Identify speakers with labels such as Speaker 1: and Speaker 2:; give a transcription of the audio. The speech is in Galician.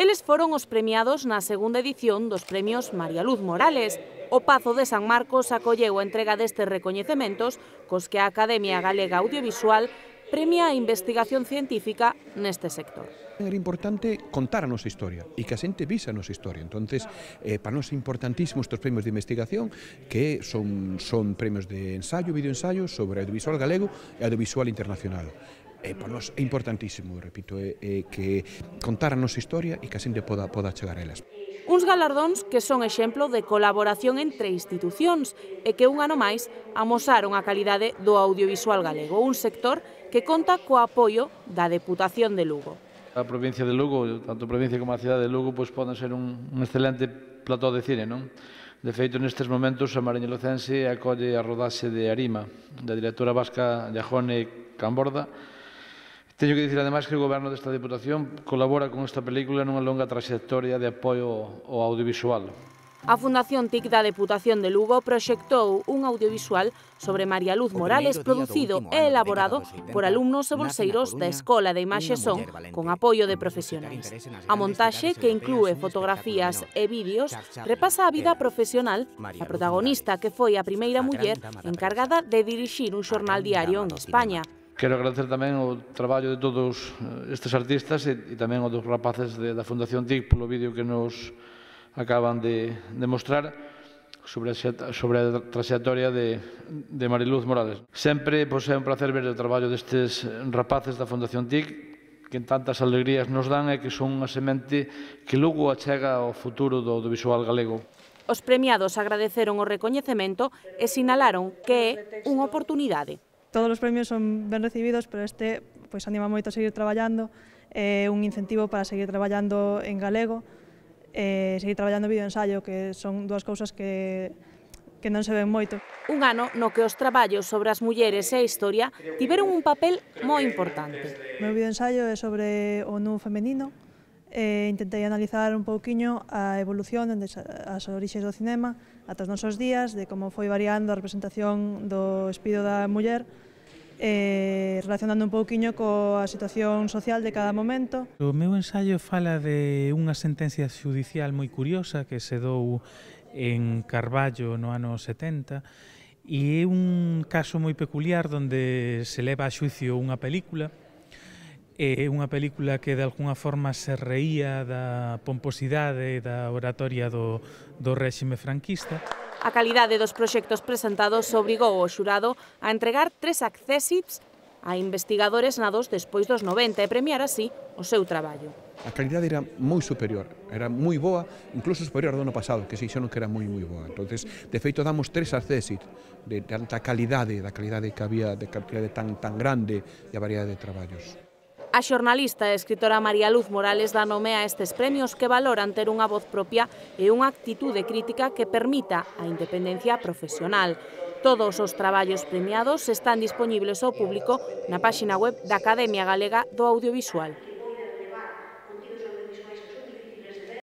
Speaker 1: Eles foron os premiados na segunda edición dos premios María Luz Morales. O Pazo de San Marcos acolleu a entrega destes recoñecementos cos que a Academia Galega Audiovisual premia a investigación científica neste sector.
Speaker 2: Era importante contar a nosa historia e que a xente vise a nosa historia. Entonces, para nós é importantísimo estes premios de investigación que son premios de ensayo, videoensayo sobre audiovisual galego e audiovisual internacional. Para nós é importantísimo, repito, que contar a nosa historia e que a xente poda chegar a elas.
Speaker 1: Uns galardóns que son exemplo de colaboración entre institucións e que un ano máis amosaron a calidade do audiovisual galego, un sector que conta co apoio da Deputación de Lugo.
Speaker 3: A provincia de Lugo, tanto a provincia como a cidade de Lugo, poden ser un excelente plató de cine, non? De feito, nestes momentos, a Mariña Lucense acolle a rodaxe de Arima, da directora vasca Jajone Camborda. Teño que dicir, ademais, que o goberno desta Deputación colabora con esta película nunha longa traxectoria de apoio ao audiovisual.
Speaker 1: A Fundación TIC da Deputación de Lugo proxectou un audiovisual sobre María Luz Morales producido e elaborado por alumnos e bolseiros da Escola de Imaxe e Son con apoio de profesionais. A montaxe, que inclúe fotografías e vídeos, repasa a vida profesional da protagonista, que foi a primeira muller encargada de dirixir un xornal diario en España.
Speaker 3: Quero agradecer tamén o traballo de todos estes artistas e tamén o dos rapaces da Fundación TIC polo vídeo que nos acaban de mostrar sobre a traxectoria de Mariluz Morales. Sempre é un placer ver o traballo destes rapaces da Fundación TIC que tantas alegrías nos dan e que son unha semente que logo achega ao futuro do audiovisual galego.
Speaker 1: Os premiados agradeceron o recoñecemento e sinalaron que é unha oportunidade.
Speaker 4: Todos os premios son ben recibidos, pero este anima moito a seguir traballando, é un incentivo para seguir traballando en galego, seguir traballando videoensayo, que son dúas cousas que non se ven moito.
Speaker 1: Un ano no que os traballos sobre as mulleres e a historia tiveron un papel moi importante.
Speaker 4: O meu videoensayo é sobre o nu femenino, intentei analizar un pouquiño a evolución das orixes do cinema ata os nosos días, de como foi variando a representación do espido da muller, relacionando un pouquiño coa situación social de cada momento.
Speaker 5: O meu ensaio fala de unha sentencia xudicial moi curiosa que se dou en Carballo no ano 70 e é un caso moi peculiar onde se leva a xuicio unha película. É unha película que de alguna forma se reía da pomposidade e da oratoria do réxime franquista.
Speaker 1: A calidade dos proxectos presentados obrigou o xurado a entregar 3 accésits a investigadores nados despois dos 90 e premiar así o seu traballo.
Speaker 2: A calidade era moi superior, era moi boa, incluso superior ao do ano pasado, que se dixeron que era moi boa. Entonces, de feito, damos 3 accésits de tanta calidade, da calidade que había, de calidade tan grande e a variedade de traballos.
Speaker 1: A xornalista e escritora María Luz Morales dá nome a estes premios que valoran ter unha voz propia e unha actitude crítica que permita a independencia profesional. Todos os traballos premiados están dispoñibles ao público na páxina web da Academia Galega do Audiovisual.